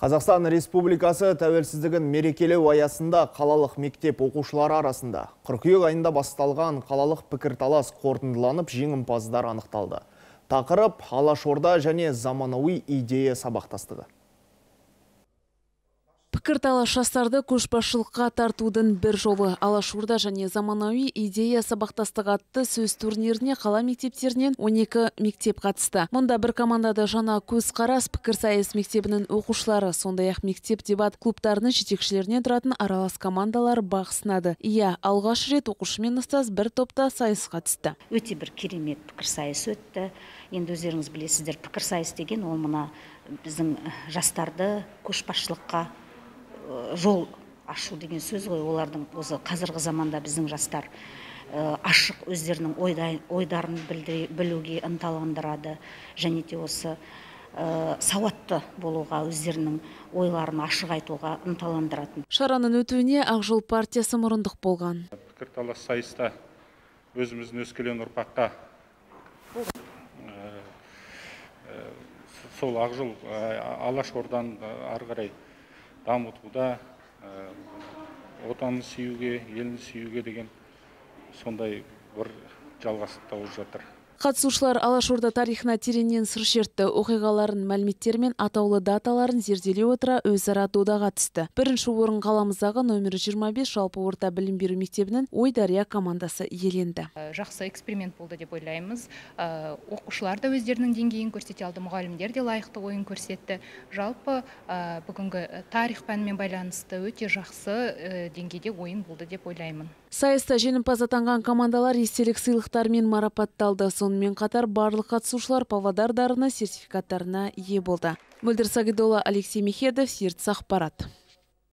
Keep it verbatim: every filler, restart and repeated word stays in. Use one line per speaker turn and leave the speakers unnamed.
Қазақстан Республикасы тәуелсіздігін мерекелеу аясында қалалық мектеп оқушылары арасында қыркүйек айында басталған қалалық пікірталас қорытындыланып, жеңімпаздар анықталды. Тақырып Алашорда және заманауи идея сабақтастығы.
Пікірталас жастарды көшбасшылыққа тартудың бір жолы. Алашорда және заманауи идея сабақтастығы атты сөз турниріне қала мектептерінен он екі мектеп қатысты. Мұнда бір командада жаңа көзқарас пікірсайыс мектебінің оқушылары, сондай-ақ мектеп дебат клубтарының жетекшілерінен тұратын аралас командалар бақ сынады. Иә, алғаш рет оқушы мен ұстаз бір топта сайысқа түсті.
Өте бір керемет пікірсайыс өтті. Енді өздеріңіз білесіздер, пікірсайыс деген ол мына біздің жастарды көшбасшылыққа жол ашу деген сөз ғой. Олардың осы қазіргі заманда біздің жастар ашық өздерінің ойдарын білуге ынталандырады, және де осы сауатты болуға, өздерінің ойларын ашық айтуға ынталандыратын.
Шараның өтуіне Ақ Жол партиясы мұрындық болған.
Пікірталас сайыста өзіміздің өскелең ұрпаққа сол Ақ Жол Алашордан ары қарай дамытуда, отанын сүюге, елін сүюге деген сондай бір жалғастық тауып жатыр.
Қатысушылар Алашорда тарихына тереңнен сыр шертті, оқиғаларын, мәліметтер мен атаулы даталарын зерделей отыра өзара додаға түсті. Бірінші орын қаламыздағы номер жиырма бес жалпы орта білім беру мектебінің Ойдария командасы иеленді.
Жақсы эксперимент болды деп ойлаймыз. Оқушылар да өздерінің деңгейін көрсете алды, мұғалімдер де лайықты ойын көрсетті. Жалпы бүгінгі тарих пәнімен байланысты өте жақсы деңгейде ойын болды деп ойлаймын.
Сайыста жеңімпаз атанған командалар естелік сыйлықтармен марапатталды. Сонымен қатар барлық қатысушылар Павлодар дарыны сертификаттарына ие болды. Мөлдір Сагидолла, Алексей Мехедов, Ертіс ақпарат.